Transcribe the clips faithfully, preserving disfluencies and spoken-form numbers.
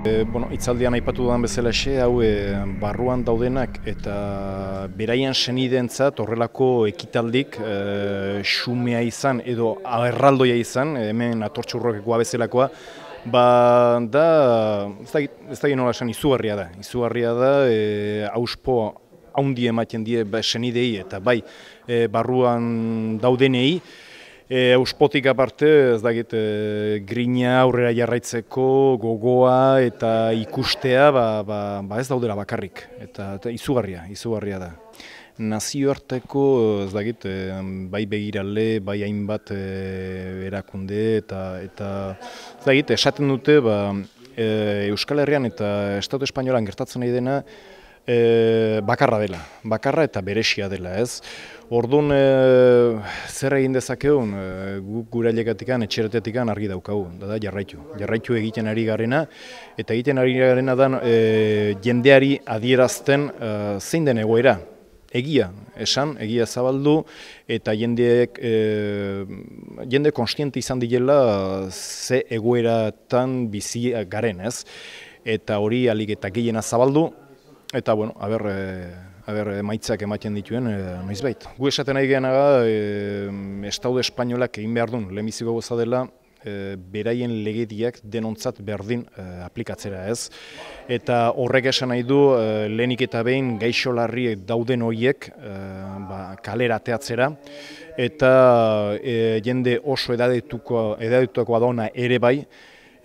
E, bueno, itzaldian aipatu dudan bezalaxe, hau e, barruan daudenak eta beraien senideentzat horrelako ekitaldik e, xumea izan edo erraldoia izan, hemen atortxurrokekoa bezalakoa, ba, da, ez da, ez da nola esan, izugarria da. Izugarria da, e, auspo haundi ematen die ba, senidei eta bai e, barruan daudenei, E, Auspotik aparte, ez dakit, e, grina aurrera jarraitzeko gogoa eta ikustea ba, ba, ba ez daudela bakarrik, eta, eta izugarria, izugarria da. Nazioarteko, ez dakit, e, bai begirale, bai hainbat e, erakunde, eta, eta ez dakit, esaten dute ba, e, Euskal Herrian eta Estatu Espainolan gertatzen nahi dena, E, bakarra dela, bakarra eta beresia dela, ez? Orduan, e, zer egin dezakegun, e, guk gure ailegatikan, etxeretetikan argi daukagu, da, da jarraitu. Jarraitu egiten ari garena, eta egiten ari garena da e, jendeari adierazten e, zein den egoera. Egia, esan, egia zabaldu, eta jendeek, e, jende konstiente izan direla ze egoeratan bizi garen, ez? Eta hori alik eta gehiena zabaldu, eta, bueno, aber, aber emaitzak ematen dituen e, noizbait. Gu esaten nahi gehiaga, e, Estatu Espainolak egin behar duen, lehenbiziko goza dela, e, beraien legediak denontzat berdin e, aplikatzera, ez. Eta horrek esan nahi du, e, lehenik eta behin gaixo larriek dauden horiek e, ba, kalera ateatzera, eta e, jende oso edadetuko, edadetukoa dauna ere bai,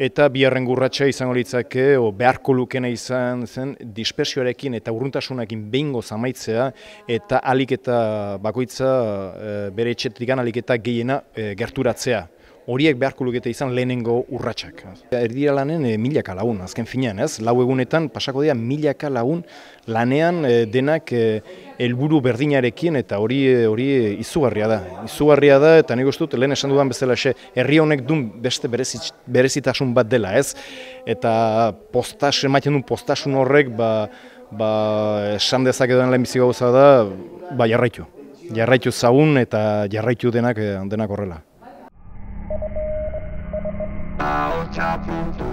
eta biharren gurratxa izango litzake, o beharko lukena izan zen, dispersioarekin eta urruntasunakin behingoz amaitzea, eta alik eta bakoitza e, bere etxetikan alik eta gehiena e, gerturatzea. Horiek beharko lukete izan lehenengo urratsak. Erdira lanen e, milaka lagun, azken finean, ez? Lau egunetan pasako dira milaka lagun lanean e, denak helburu e, berdinarekin, eta hori hori izugarria da. Izugarria da, eta nik uste dut, lehen esan dudan bezala, herri honek duen beste berezit, berezitasun bat dela, ez? Eta postas, ematen duen postasun horrek, ba, ba, esan dezaketan lehenbiziko gauza da, ba, jarraitu. Jarraitu zaun eta jarraitu denak, denak horrela. Ahotsa puntu